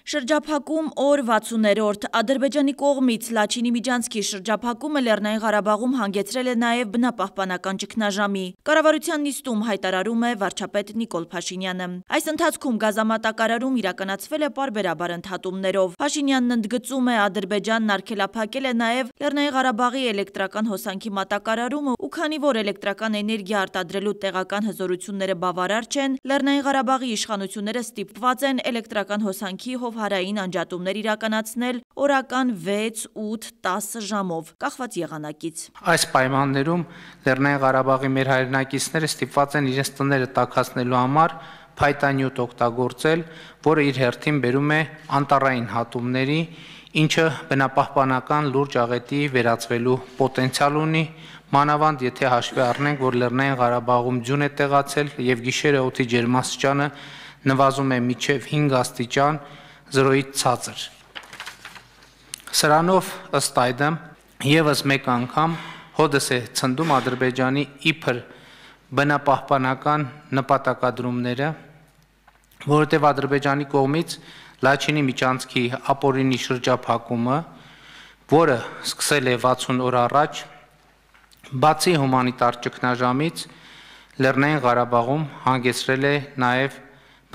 Շրջափակում օր 60-րդ Ադրբեջանի կողմից Լաչինի Միջանցքի շրջափակումը Լեռնային Ղարաբաղում հանգեցրել է նաև բնապահպանական ճգնաժամի։ Կառավարության նիստում հայտարարում է վարչապետ Նիկոլ Փաշինյանը։ Այս ընթացքում գազամատակարարում իրականացվել է պարբերաբար ընդհատումներով։ Փաշինյանն ընդգծում է, Ադրբեջանն արգելափակել է նաև Լեռնային Ղարաբաղի էլեկտրական հոսանքի մատակարարումը, ու քանի որ էլեկտրական էներգիա արտադրելու տեղական հզորությունները բավարար չեն, Լեռնային Ղարաբաղի իշխանությունները ստիպված են էլեկտրական հոսանքի հարային անջատումներ իրականացնել օրական 6-8-10 ժամով, կախված եղանակից։ Այս պայմաններում Լեռնային Ղարաբաղի մեր հայրենակիցները ստիպված են իրենց տները տաքացնելու համար փայտանյութ օգտագործել, որը իր հերթին բերում է անտառային հատումների, ինչը բնապահպանական լուրջ աղետի վերածվելու պոտենցիալ ունի, մանավանդ եթե հաշվի առնենք, որ Լեռնային Ղարաբաղում ձյուն է տեղացել եւ գիշերը օդի ջերմաստիճանը նվազում է մինչեւ 5 աստիճան, 0-ից ցածր։ Սրանով ըստ այդմ եւս մեկ անգամ հոդս է ցնդում Ադրբեջանի իբր բնապահպանական նպատակադրումները, որովհետեւ Ադրբեջանի կողմից Լաչինի Միջանցքի ապօրինի շրջափակումը, որը սկսել է 60 օր առաջ, բացի հումանիտար ճգնաժամից, Լեռնային Ղարաբաղում հանգեցրել է նաեւ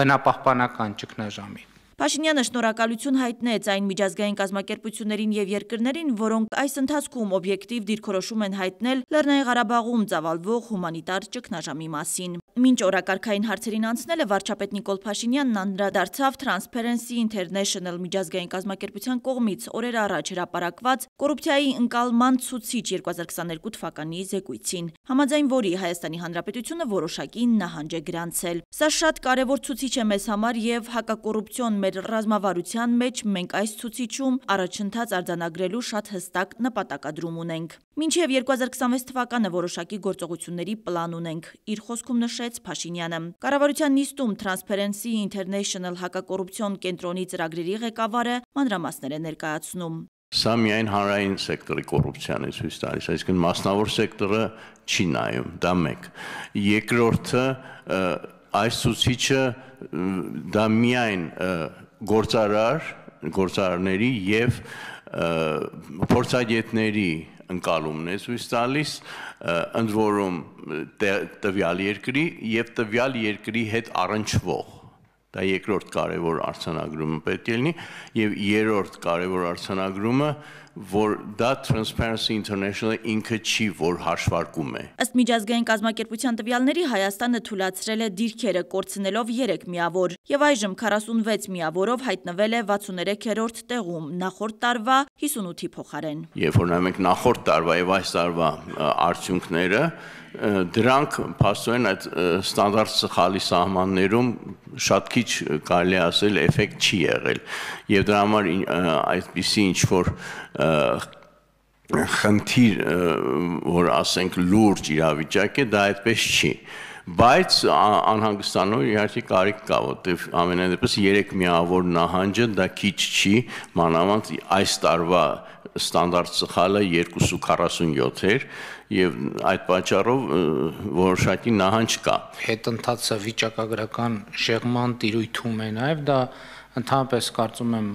բնապահպանական ճգնաժամի։ Փաշինյանը շնորհակալություն հայտնեց այն միջազգային կազմակերպություններին եւ երկրներին, որոնք այս ընթացքում օբյեկտիվ դիրքորոշում են հայտնել Լեռնային Ղարաբաղում ծավալվող հումանիտար ճգնաժամի մասին։ Մինչ օրակարգային հարցերին անցնելը վարչապետ Նիկոլ Փաշինյանն անդրադարձավ Transparency International միջազգային կազմակերպության կողմից օրեր առաջ հրապարակված կոռուպցիայի ընկալման ցուցիչ 2022 թվականի զեկույցին, համաձայն որի Հայաստանի Հանրապետությունը որոշակի նահանջ է գրանցել։ Սա շատ կարևոր ցուցիչ է մեզ համար եւ հակակոռուպցիոն մեր ռազմավարության մեջ մենք այս ցուցիչում առաջընթաց արձանագրելու շատ հստակ նպատակադրում ունենք։ Մինչև 2026 թվականը որոշակի գործողությունների պլան ունենք, իր խոսքում նշեց Փաշինյանը։ Կառավարության նիստում Transparency International հակակոռուպցիոն կենտրոնի ծրագրերի ղեկավարը մանրամասներ է ներկայացնում։ Սա միայն հանրային սեկտորի կոռուպցիան է ցույց տալիս, այսինքն մասնավոր սեկտորը չի նայում, դա մեկ։ Երկրորդը, այս ցուցիչը դա միայն գործարարների եւ փորձագետների ընկալումն է ցույց տալիս, ընդ որում տվյալ երկրի եւ տվյալ երկրի հետ առնչվող։ Դա երկրորդ կարևոր արձանագրումը պետք է լինի եւ երրորդ կարևոր արձանագրումը, որ դա Transparency International ինքը չի, որ հաշվարկում է։ Ըստ միջազգային կազմակերպության տվյալների Հայաստանը թույլատրել է դիրքերը կորցնելով 3 միավոր եւ այժմ 46 միավորով հայտնվել է 63-րդ տեղում, նախորդ տարվա 58-ի փոխարեն։ Երբ որ նայում ենք նախորդ տարվա եւ այս տարվա արդյունքները, դրանք փաստորեն այդ ստանդարտ սխալի սահմաններում շատ քիչ կարելի ասել էֆեկտ չի եղել եւ դրա համար այդպիսի ինչ որ խնդիր, որ ասենք լուրջ իրավիճակ է, դա այդպես չի, բայց անհանգստանալու իհարկե կարիք կա, որտեղ ամենայն դեպս 3 միավոր նահանջը դա քիչ չի, մանավանդ այս տարվա ստանդարտ սխալը 247 էր եւ այդ պատճառով որոշակի նահանջ կա։ Հետընթացը վիճակագրական շեղման տիրույթում է նաեւ դա ընդհանրապես կարծում եմ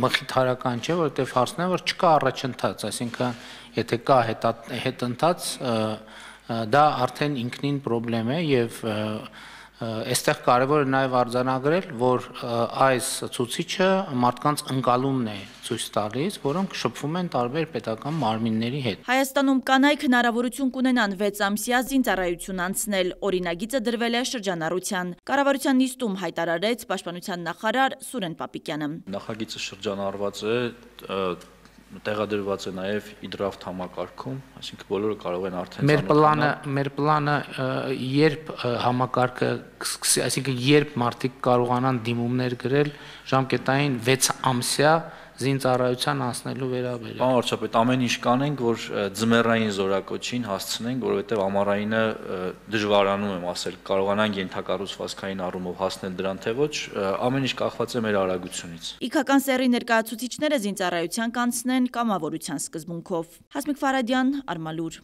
մխիթարական չէ, որովհետեւ հարցն է, որ չկա առաջընթաց, այսինքն եթե կա հետընթաց, դա արդեն ինքնին խնդրեմ է եւ այստեղ կարևոր է նաև արձանագրել, որ այս ցուցիչը մարդկանց ընկալումն է ցույց տալիս, որոնք շփվում են տարբեր պետական մարմինների հետ։ Հայաստանում կանայք հնարավորություն կունենան 6 ամսյա զինծառայություն անցնել, օրինագիծը դրվել է շրջանառության։ Կառավարության նիստում հայտարարեց Պաշտպանության նախարար Սուրեն Պապիկյանը։ Նախագիծը շրջանառված է, տեղադրված է նաև իդրաֆտ համակարգում, այսինքն բոլորը կարող են արդեն Մեր պլանը երբ համակարգը կսկսի, այսինքն երբ մարդիկ կարողանան դիմումներ գրել ժամկետային 6 ամսյա զինծառայության անցնելու վերաբերյալ։ Պարոն վարչապետ, ամեն ինչ կանենք, որ ձմեռային զորակոչին հասցնենք, որովհետև ամառայինը դժվարանում եմ ասել, կարողանանք ենթակառուցվածքային առումով հասնել դրան, թե ոչ, ամեն ինչ կախված է մեր արագությունից։ Իգական սեռի ներկայացուցիչները զինծառայության կանցնեն կամավորության սկզբունքով։ Հասմիկ Ֆարադյան, Արմալուր։